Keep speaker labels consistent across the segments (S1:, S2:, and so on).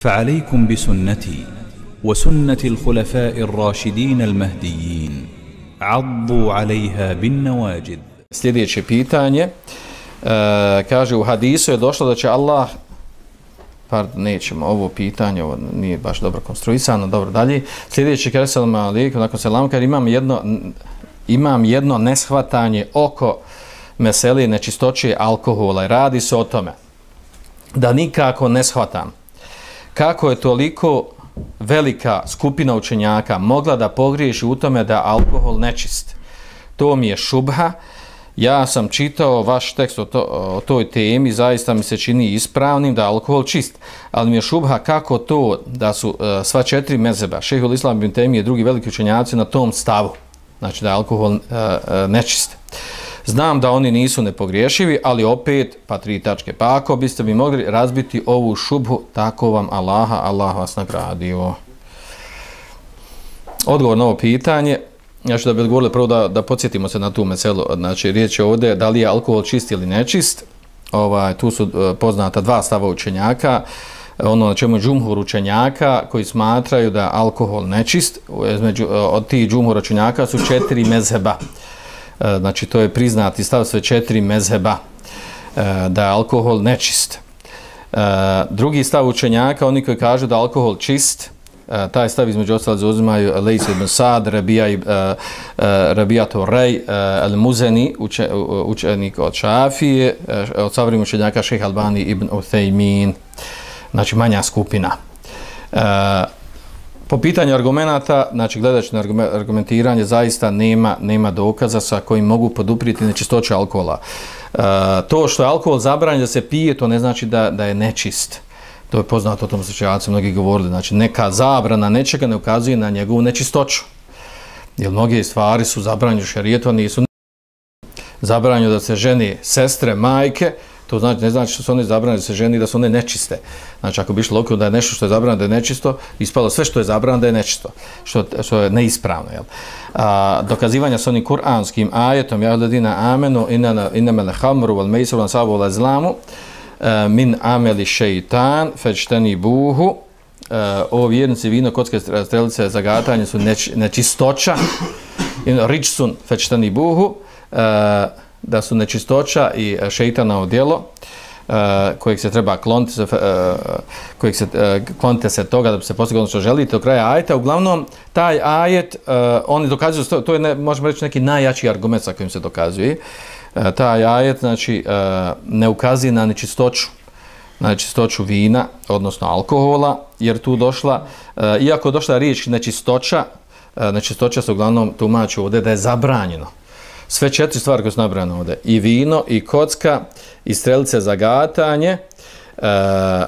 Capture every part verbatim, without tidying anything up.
S1: فعليكم بسنتي وسنة الخلفاء الراشدين المهديين عضوا عليها بالنواجذ.
S2: Sljedeće pitanje, e, kaže u hadisu je došlo da će Allah, pardon, nećemo ovo pitanje, ovo nije baš dobro konstruisano, dobro dalje. Sljedeće kaže selam alejkum, nakon selam kaže imam jedno imam jedno neshvatanje oko mesele nečistoće alkohola i radi se o tome da nikako ne shvatam kako je toliko velika skupina učenjaka mogla da pogriješi u tome da alkohol nečist. To mi je šubha. Ja sam čitao vaš tekst o, to, o toj temi, zaista mi se čini ispravnim da je alkohol čist, ali mi je šubha kako to da su uh, sva četiri mezheba, Šejhul Islam ibn Tejmije i drugi veliki učenjaci na tom stavu, znači da je alkohol uh, uh, nečist. Znam da oni nisu nepogriješivi, ali opet, pa tri tačke, pa ako biste mi mogli razbiti ovu šubhu, tako vam Allaha, Allah vas nagradio. Odgovor na ovo pitanje, ja ću da bi odgovorili prvo da, da podsjetimo se na tu meselu, znači riječ je ovdje da li je alkohol čist ili nečist, ovaj, tu su uh, poznata dva stava učenjaka, ono na čemu je džumhur učenjaka koji smatraju da je alkohol nečist, između, uh, od tih džumhur učenjaka su četiri mezheba. Znači to je priznati stav sve četiri mezheba da je alkohol nečist. Drugi stav učenjaka, oni koji kažu da je alkohol čist, taj stav između ostalih zauzimaju Lejs ibn Sad, Rabijato Rej, Al-Muzeni, učenik od Šafije, od savremenih učenjaka Šejh Albani ibn Uthejmin, znači manja skupina. Po pitanju argumenata, znači gledajući na argumentiranje, zaista nema, nema dokaza sa kojim mogu poduprijeti nečistoću alkohola. E, to što je alkohol zabranjen da se pije, to ne znači da, da je nečist. To je poznato, o tom slučajaci mnogi govorili. Znači neka zabrana nečega ne ukazuje na njegovu nečistoću. Jer mnoge stvari su zabranjene u šerijetu, a nisu zabranjene da se ženi sestre, majke. To znači, ne znači što su one zabranjene da se ženi, da su one nečiste. Znači, ako bi išlo okolo da je nešto što je zabranjeno da je nečisto, ispalo sve što je zabranjeno da je nečisto, što, što je neispravno. Jel? A, dokazivanja s onim kuranskim ajetom, ja ledina amenu, inamele hamru, val mejsru, val sabu, val zlamu, min ameli šeitan, feđteni buhu, o vjernici, vino, kocke, strelice, zagatanje su neč, nečistoća, ričsun, feđteni buhu, a, da su nečistoća i šeitanovo djelo uh, kojeg se treba kloniti, uh, kojeg se uh, klonite se toga da bi se postiglo ono što želite do kraja ajeta. Uglavnom, taj ajet, uh, oni dokazuju, to, to je, ne, možemo reći, neki najjači argument sa kojim se dokazuje. Uh, taj ajet, znači, uh, ne ukazuje na nečistoću, na nečistoću vina, odnosno alkohola, jer tu došla, uh, iako došla riječ nečistoća, uh, nečistoća se uglavnom tumači ovdje da je zabranjeno. Sve četiri stvari koje su nabrane ovdje, i vino, i kocka, i strelice za gatanje, e,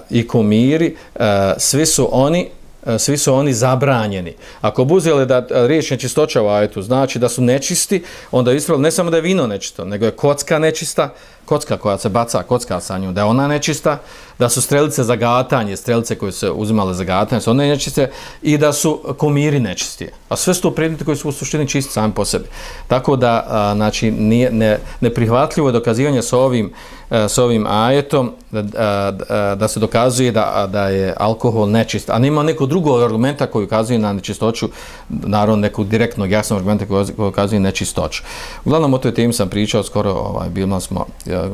S2: i kumiri, e, svi su oni e, svi su oni zabranjeni. Ako bi uzeli da riječ nečistoća u ajetu znači da su nečisti, onda je ispravilo ne samo da je vino nečisto, nego je kocka nečista, kocka koja se baca, kocka sa njom, da je ona nečista, da su strelice za gatanje, strelice koje se uzimale za gatanje, su one nečiste, i da su kumiri nečisti. A sve su to predmeti koji su u suštini čisti sami po sebi. Tako da, a, znači, nije, ne, neprihvatljivo je dokazivanje s ovim, a, s ovim ajetom da, a, da se dokazuje da, da je alkohol nečist. A nema neko drugog argumenta koji ukazuje na nečistoću, naravno nekog direktnog jasnog argumenta koji ukazuje nečistoću. Uglavnom, o toj temi sam pričao skoro, ovaj, bilo smo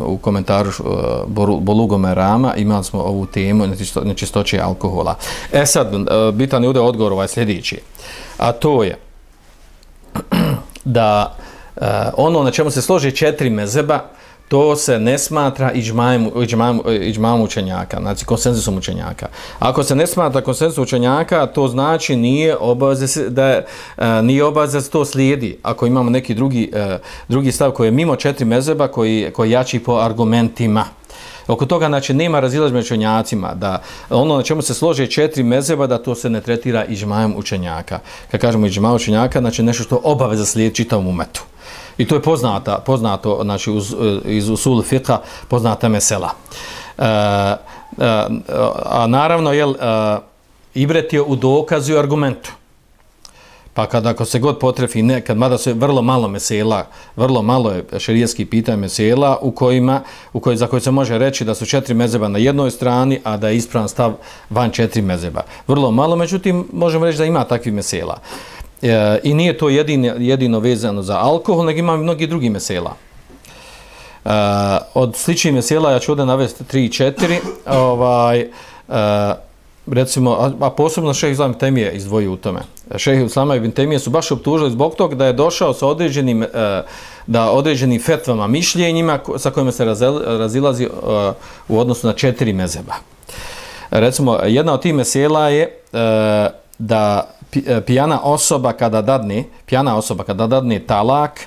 S2: u komentaru uh, Bulugo Merama, imali smo ovu temu nečisto, nečistoće alkohola. E sad, uh, bitan je ovdje odgovor ovaj sljedeći, a to je da uh, ono na čemu se složi četiri mezheba, to se ne smatra iđmam, iđmam, iđmam učenjaka, znači konsenzusom učenjaka. Ako se ne smatra konsenzusom učenjaka, to znači nije obaveza da nije obaveza da to slijedi. Ako imamo neki drugi, drugi stav koji je mimo četiri mezheba, koji, koji jači po argumentima. Oko toga, znači, nema razilaženja među učenjacima, da ono na čemu se slože četiri mezheba, da to se ne tretira iđmam učenjaka. Kad kažemo iđmam učenjaka, znači nešto što obaveza slijedi čitavom umetu. I to je poznata, poznato, znači, uz, iz usul fiqha, poznata mesela. E, a, a naravno, jel, a, ibret je u dokazu i argumentu. Pa kad ako se god potrefi nekad, mada se vrlo malo mesela, vrlo malo je šerijski pitanje mesela u kojima, u koj, za koje se može reći da su četiri mezeba na jednoj strani, a da je ispravan stav van četiri mezeba. Vrlo malo, međutim, možemo reći da ima takvih mesela. E, I nije to jedino, jedino vezano za alkohol, nego ima mnogi drugi mesela. E, od sličnih mesela ja ću ovdje navesti tri četiri, ovaj, e, recimo, a, a posebno šejh Islam ibn Tejmije izdvojio u tome. Šejh Islam ibn Tejmije su baš optužili zbog toga da je došao sa određenim, e, da određenim fetvama, mišljenjima sa kojima se razel, razilazi e, u odnosu na četiri mezeba. Recimo, jedna od tih mesela je e, da pijana osoba kada dadne, pijana osoba kada dadne talak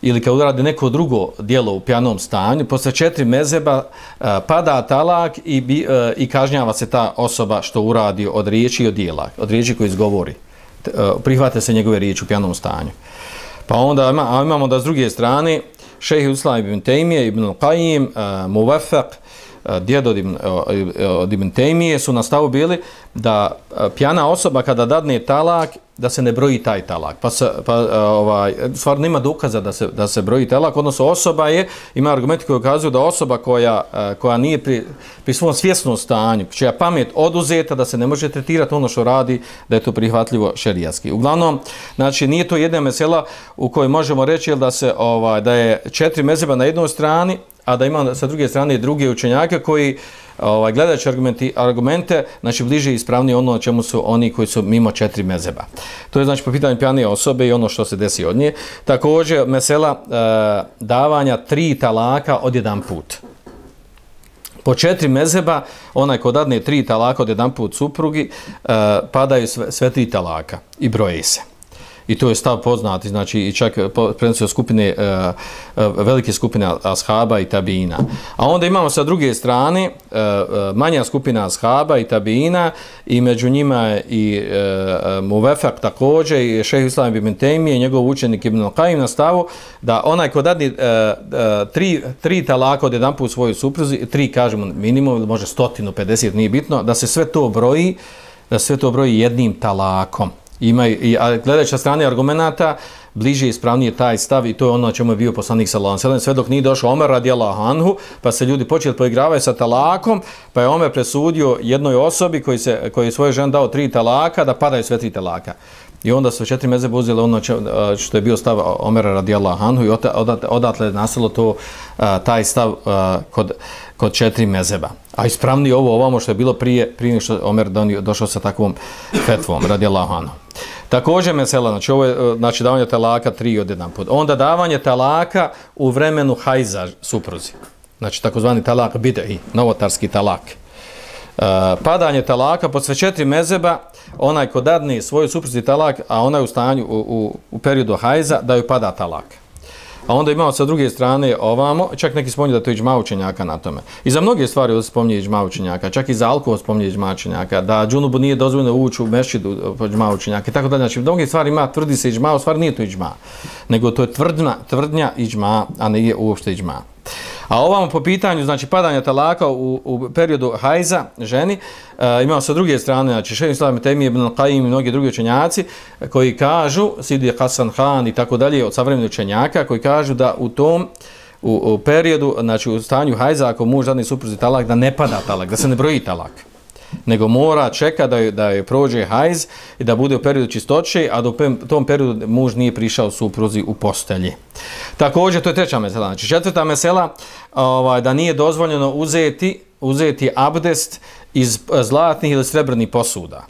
S2: ili kad uradi neko drugo djelo u pijanom stanju, posle četiri mezeba uh, pada talak i, bi, uh, i kažnjava se ta osoba što uradi od riječi i od djela, od riječi koji izgovori. Uh, prihvate se njegove riječi u pijanom stanju. Pa onda ima, a imamo da s druge strane šejh Islam ibn Tejmije, ibn Al-Qaim, uh, Muwaffaq, djed od Ibn, od Ibn Tejmije su na stavu bili da pijana osoba kada dadne talak, da se ne broji taj talak. Pa, se, pa ovaj, stvarno nema dokaza da se, da se broji talak, odnosno osoba je, ima argumenti koji ukazuju da osoba koja, koja nije pri, pri svom svjesnom stanju, čija pamet oduzeta, da se ne može tretirati ono što radi, da je to prihvatljivo šerijatski. Uglavnom, znači, nije to jedna mesela u kojoj možemo reći da, se, ovaj, da je četiri mezeba na jednoj strani, a da ima sa druge strane druge učenjake koji ovaj, gledajući argumente, argumente znači bliže i ispravnije ono čemu su oni koji su mimo četiri mezeba. To je znači po pitanju pijane osobe i ono što se desi od nje. Također mesela e, davanja tri talaka od jedan put. Po četiri mezeba, onaj ko dadne tri talaka od jedan put suprugi, e, padaju sve, sve tri talaka i broje se. I to je stav poznati, znači i čak prenosio skupine, uh, uh, velike skupine ashaba i tabiina. A onda imamo sa druge strane uh, uh, manja skupina ashaba i tabiina i među njima je i uh, Muwaffaq također i šejh Islam ibn Tejmije i njegov učenik Ibn Al-Qaim na stavu da onaj ko dadne uh, uh, tri, tri talaka od jedan put svojoj supruzi, tri kažemo minimum ili može sto pedeset, nije bitno, da se sve to broji, da se sve to broji jednim talakom. Ima i gledajući na strane argumenata bliže i ispravnije taj stav i to je ono na čemu je bio poslanik sallallahu alejhi ve sellem, sve dok nije došao Omer radijallahu anhu, pa se ljudi počeli poigravati sa talakom, pa je Omer presudio jednoj osobi koji se koji je svojoj ženi dao tri talaka da padaju sve tri talaka. I onda su četiri mezeba uzeli ono što je bio stav Omera radijallahu anhu i odatle je nastalo to taj stav kod kod četiri mezeba. A ispravnije ovo ovamo što je bilo prije prije što Omer došao sa takvom fetvom radijallahu anhu. Također mesela, znači ovo je znači davanje talaka tri od jedan put. Onda davanje talaka u vremenu hajza supruzi. Znači takozvani talak bid'i, novotarski talak. Uh, padanje talaka pod sve četiri mezeba, onaj ko dadne svoju supruzi talak, a ona je u stanju u, u, u periodu hajza, da joj pada talak. A onda imamo sa druge strane ovamo, čak neki spominju da to je iđma učenjaka na tome. I za mnoge stvari ovdje spominje iđma učenjaka, čak i za alkohol spominje iđma učenjaka, da džunubu nije dozvoljeno ući u mešćidu po iđma učenjaka i tako dalje. Znači, mnoge stvari ima, tvrdi se iđma, u stvari nije to iđma, nego to je tvrdnja, tvrdnja iđma, a ne je uopšte iđma. A ovamo po pitanju, znači, padanja talaka u, u periodu hajza ženi, e, imamo sa druge strane, znači, šejh Islam ibn Tejmije, Ibn Al-Qaim i mnogi drugi učenjaci koji kažu, Sidi Hasan Han i tako dalje, od savremenih učenjaka, koji kažu da u tom u, u periodu, znači u stanju hajza, ako muž dadne supruzi talak, da ne pada talak, da se ne broji talak, nego mora čeka da je, da je prođe hajz i da bude u periodu čistoće, a da u tom periodu muž nije prišao supruzi u postelji. Također, to je treća mesela. Znači, četvrta mesela, ovaj, da nije dozvoljeno uzeti, uzeti abdest iz zlatnih ili srebrnih posuda.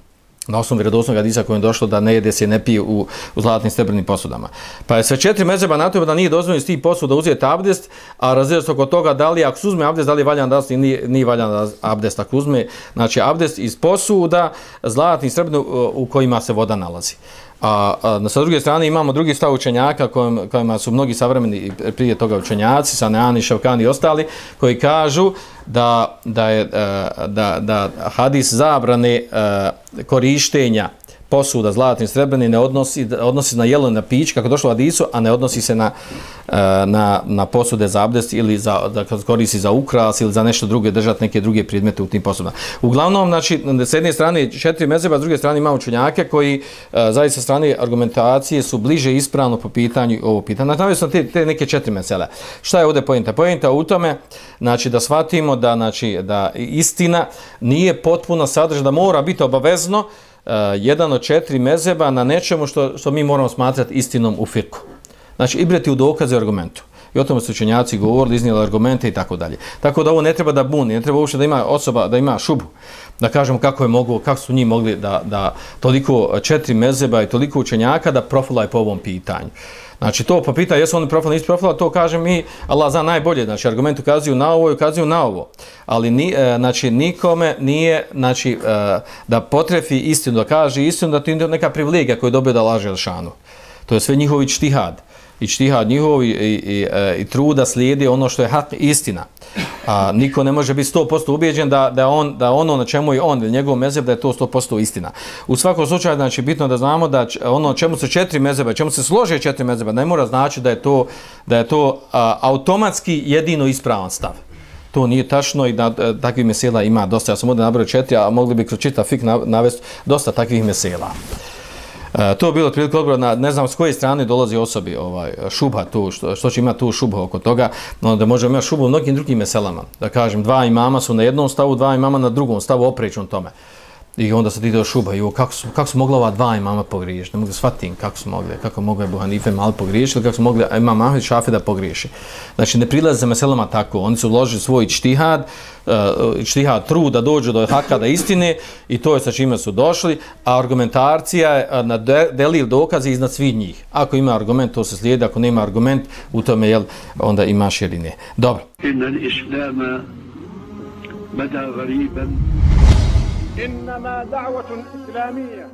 S2: Na osnovu vjerodostojnog hadisa kojem je došlo da ne jede se ne pije u, u zlatnim srebrnim posudama. Pa je sve četiri mezheba na to da nije dozvoljeno iz tih posuda uzeti abdest, a razgleda se oko toga da li ako se uzme abdest, da li je valjan da nije, nije valjan abdest ako uzme, znači abdest iz posuda zlatnih srebrnih u kojima se voda nalazi. A, a sa druge strane imamo drugi stav učenjaka kojim, kojima su mnogi savremeni prije toga učenjaci, Saneani, Ševkani i ostali, koji kažu da, da je da, da hadis zabrane korištenja posuda zlatni srebrni ne odnosi, odnosi na jelo na pić, kako došlo u hadisu, a ne odnosi se na, na, na posude za abdest ili za, da koristi za ukras ili za nešto druge, držati neke druge predmete u tim posudama. Uglavnom, znači, s jedne strane četiri mezheba, s druge strane imamo učenjake koji zaista sa strane argumentacije su bliže ispravno po pitanju ovo pitanje. Navio sam te, te neke četiri mesela. Šta je ovdje pojenta? Pojenta u tome, znači, da shvatimo da, znači, da istina nije potpuno sadržana, da mora biti obavezno uh, jedan od četiri mezheba na nečemu što, što mi moramo smatrati istinom u firku. Znači, ibrati u dokaze i argumentu. I o tome su učenjaci govorili, iznijeli argumente i tako dalje. Tako da ovo ne treba da buni, ne treba uopšte da ima osoba, da ima šubu. Da kažemo kako je moglo, kako su njih mogli da, da toliko četiri mezheba i toliko učenjaka da profilaju po ovom pitanju. Znači, to po pitanju, jesu oni profili, nisu profila, to kaže mi, Allah zna najbolje, znači, argument ukazuju na ovo i ukazuju na ovo. Ali, ni, e, znači, nikome nije, znači, e, da potrefi istinu, da kaže istinu, da to je neka privilegija koju dobije da laže Elšanu. To je sve njihovi čtihad. I čtihad njihovi i, i, i, i truda slijedi ono što je hak, istina. A niko ne može biti sto posto ubijeđen da, da, on, da ono na čemu je on ili njegov mezheb da je to sto posto istina. U svakom slučaju, znači, bitno da znamo da ono čemu se četiri mezheba, čemu se slože četiri mezheba, ne mora znači da je to, da je to a, automatski jedino ispravan stav. To nije tačno i da a, takvih mesela ima dosta. Ja sam ovdje nabrao četiri, a mogli bi kroz čitav fik navesti dosta takvih mesela. Uh, to je bilo otprilike odgovor na, ne znam s koje strane dolazi osobi ovaj, šubha tu, što, što će imati tu šubha oko toga, no, da možemo imati šubhu u mnogim drugim meselama. Da kažem, dva imama su na jednom stavu, dva imama na drugom stavu, oprečnom tome. I onda se ti do šubha, i kako su, kako su mogla ova dva imama pogriješiti? Ne mogu shvatiti kako su mogli, kako mogu Ebu Hanife malo pogriješiti, ili kako su mogli imam Ahmed Šafi da pogriješi. Znači, ne prilaze za meselama tako, oni su uložili svoj čtihad, uh, čtihad trud da dođu do haka, da istine, i to je sa čime su došli, a argumentarcija je na de, delil dokazi iznad svih njih. Ako ima argument, to se slijedi, ako nema argument, u tome, jel, onda imaš ili ne. Dobro.
S3: Inna l-islama bada gariban.
S4: إنما دعوة إسلامية